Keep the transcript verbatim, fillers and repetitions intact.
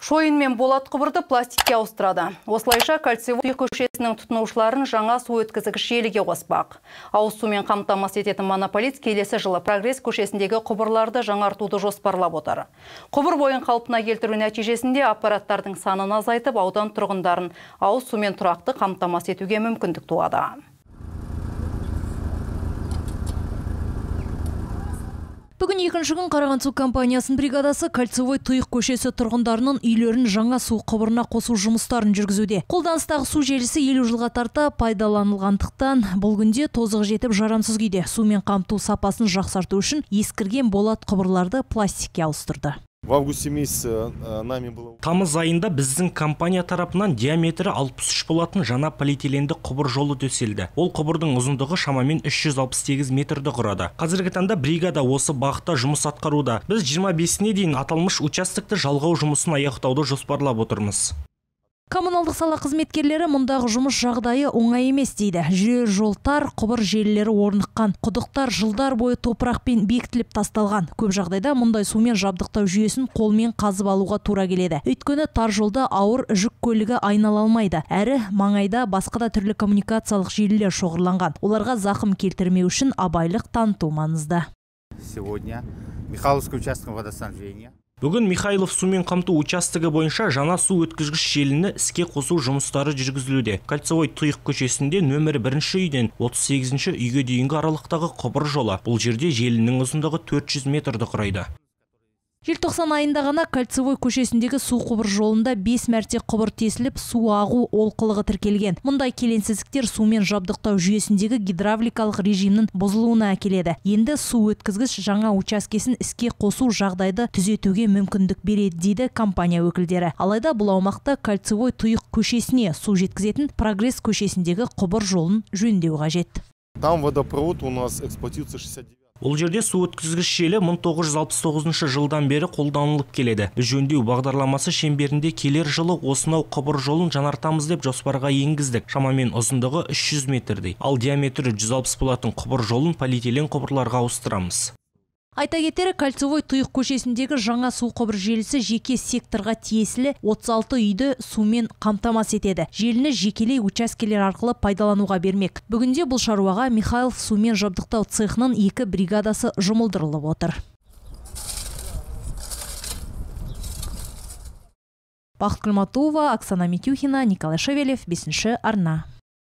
Шойын мен болат құбырды пластикке ауыстырады. Осылайша Кольцевой көшесінің тұтынушыларын жаңа су өткізгіш желіге қоспақ. Ауыз сумен қамтамасыз ететін монополист келесі жылы Прогресс көшесіндегі құбырларды жаңартуды жоспарлап отыр. Құбыр бойын қалпына келтіру нәтижесінде аппараттардың санын азайтып, аудан тұрғындарын ауыз сумен тұрақты қамтамасыз етуге мүмкіндік туады. Бүгін екінші күн Қарағанды су компаниясының бригадасы Кольцевой тұйық көшесі тұрғындарының үйлерін жаңа су құбырына қосу жұмыстарын жүргізуде. Қолданыстағы су желісі елу жылға тарта пайдаланылғандықтан бұл күнде тозығы жетіп жарамсыз күйде. Сумен қамту сапасын жақсарту үшін ескірген болат құбырларды пластикке ауыстырды. В августе месяце нами было... Тамыз айында біздің компания тарапынан диаметрі алпыс үш болатын жаңа полиэтиленді құбыр жолы төселді. Ол құбырдың ұзындығы шамамен үш жүз алпыс сегіз метрді құрады. Қазіргі таңда бригада осы бағытта жұмыс атқаруда. Біз жиырма бесіне дейін аталмыш участокты жалғау жұмысын аяқтауды жоспарлап отырмыз. Коммуналдық сала қызметкерлері мұндағы жұмыс жағдайы оңай емес дейді. Жүрер жолтар, құбыр желілері орныққан, құдықтар жылдар бойы топырақпен бекітіліп тасталған. Көп жағдайда мұндай сумен жабдықтау жүйесін қолмен қазып алуға тура келеді. Өйткені тар жолда ауыр жүк көлігі айнала алмайды. Әрі маңайда басқа да түрлі коммуникациялық желілер шоғырланған. Оларға зақым келтірмеу үшін абайлық таныту маңызды. Сегодня Михайловский участок водоснабжения. Бүгін Михайлов сумен қамту участығы бойынша жаңа су өткізгіш желіні іске қосу жұмыстары жүргізілуде. Кольцевой тұйық көшесінде нөмір бірінші үйден отыз сегізінші үйге дейінгі аралықтағы құбыр жолы. Бұл жерде желінің ұзындығы төрт жүз метрді құрайды. Желтоқсан айында ғана Кольцевой көшесіндегі су құбыр жолында бес мәрте құбыр тесіліп, су ағу олқылығы тіркелген. Мұндай келеңсіздіктер сумен жабдықтау жүйесіндегі гидравликалық режимнің бұзылуына әкеледі. Енді су өткізгіш жаңа учаскесін іске қосу жағдайды түзетуге мүмкіндік береді дейді компания өкілдері. Алайда бұл аумақта Кольцевой тұйық көшесіне су жеткізетін Прогресс көшесіндегі құбыр жолын жөндеу қажет. Там водопровод у нас эксплуатируется шестьдесят девять. Ол жерде су өткізгіш желі мың тоғыз жүз алпыс тоғызыншы жылдан бері қолданылып келеді. Біз жөндеу бағдарламасы шеңберінде келер жылы осынау құбыр жолын жаңартамыз деп жоспарға енгіздік. Шамамен ұзындығы үш жүз метрдей. Ал диаметрі жүз алпыс болатын құбыр жолын полиэтилен құбырларға ауыстырамыз. Айта кетері, Кольцевой тұйық көшесіндегі жаңа су құбыр желісі жеке секторға тиесілі отыз алты үйді сумен қамтамасыз етеді. Желіні жекелей учаскелер арқылы пайдалануға бермек. Бүгінде бұл шаруаға Михайлов сумен жабдықтау цехының екі бригадасы жұмылдырылып отыр. Бақыт Күлматова, Оксана Митюхина, Николай Шевелев, бесінші арна.